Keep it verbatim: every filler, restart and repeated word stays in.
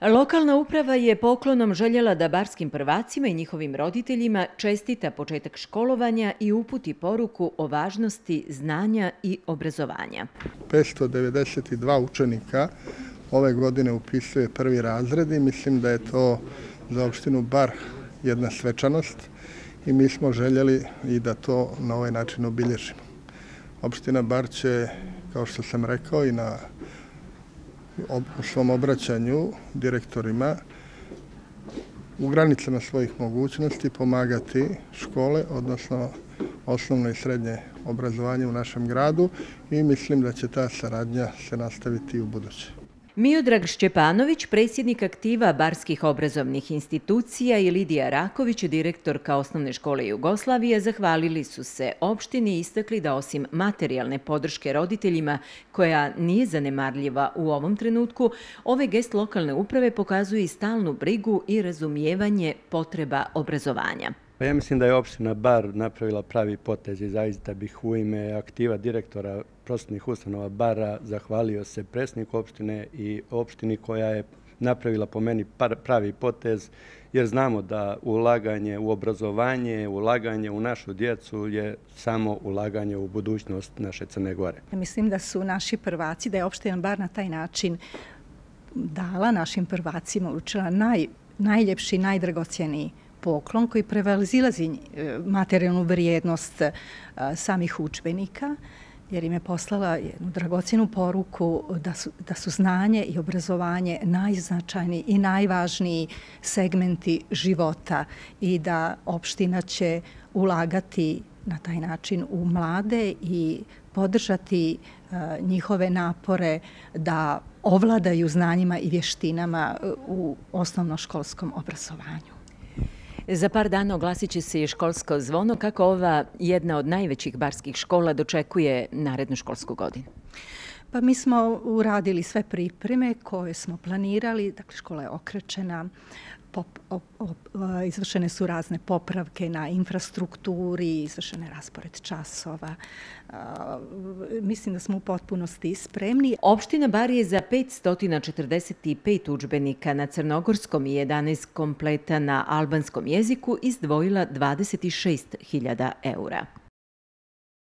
Lokalna uprava je poklonom željela da barskim prvacima i njihovim roditeljima čestita početak školovanja i uputi poruku o važnosti znanja i obrazovanja. petsto devedeset dva učenika ove godine upisuje prvi razred i mislim da je to za opštinu Bar jedna svečanost i mi smo željeli i da to na ovaj način obilježimo. Opština Bar će, kao što sam rekao i na u svom obraćanju direktorima, u granicama svojih mogućnosti pomagati škole, odnosno osnovno i srednje obrazovanje u našem gradu i mislim da će ta saradnja se nastaviti i u buduće. Miodrag Šćepanović, predsjednik aktiva barskih obrazovnih institucija i Lidija Raković, direktorka Osnovne škole Jugoslavije, zahvalili su se opštini i istakli da osim materijalne podrške roditeljima, koja nije zanemarljiva u ovom trenutku, ovaj gest lokalne uprave pokazuje i stalnu brigu i razumijevanje potreba obrazovanja. Ja mislim da je opština Bar napravila pravi potez i zaista bih u ime aktiva direktora prosvetnih ustanova Bara zahvalio se predsjedniku opštine i opštini koja je napravila po meni pravi potez, jer znamo da ulaganje u obrazovanje, ulaganje u našu djecu je samo ulaganje u budućnost naše Crne Gore. Mislim da su naši prvaci, da je opština Bar na taj način dala našim prvacima, učila naj, najljepši, najdragocjeniji poklon koji prevazilazi materijalnu vrijednost samih udžbenika, jer im je poslala jednu dragocjenu poruku da su, da su znanje i obrazovanje najznačajniji i najvažniji segmenti života i da opština će ulagati na taj način u mlade i podržati njihove napore da ovladaju znanjima i vještinama u osnovnoškolskom obrazovanju. Za par dana oglasit će se i školsko zvono. Kako ova jedna od najvećih barskih škola dočekuje narednu školsku godinu? Pa mi smo uradili sve pripreme koje smo planirali. Dakle, škola je okrečena, pop, op, op, izvršene su razne popravke na infrastrukturi, izvršene je raspored časova. A, mislim da smo u potpunosti spremni. Opština Bar je za petsto četrdeset pet udžbenika na crnogorskom i jedanaest kompleta na albanskom jeziku izdvojila dvadeset šest hiljada eura.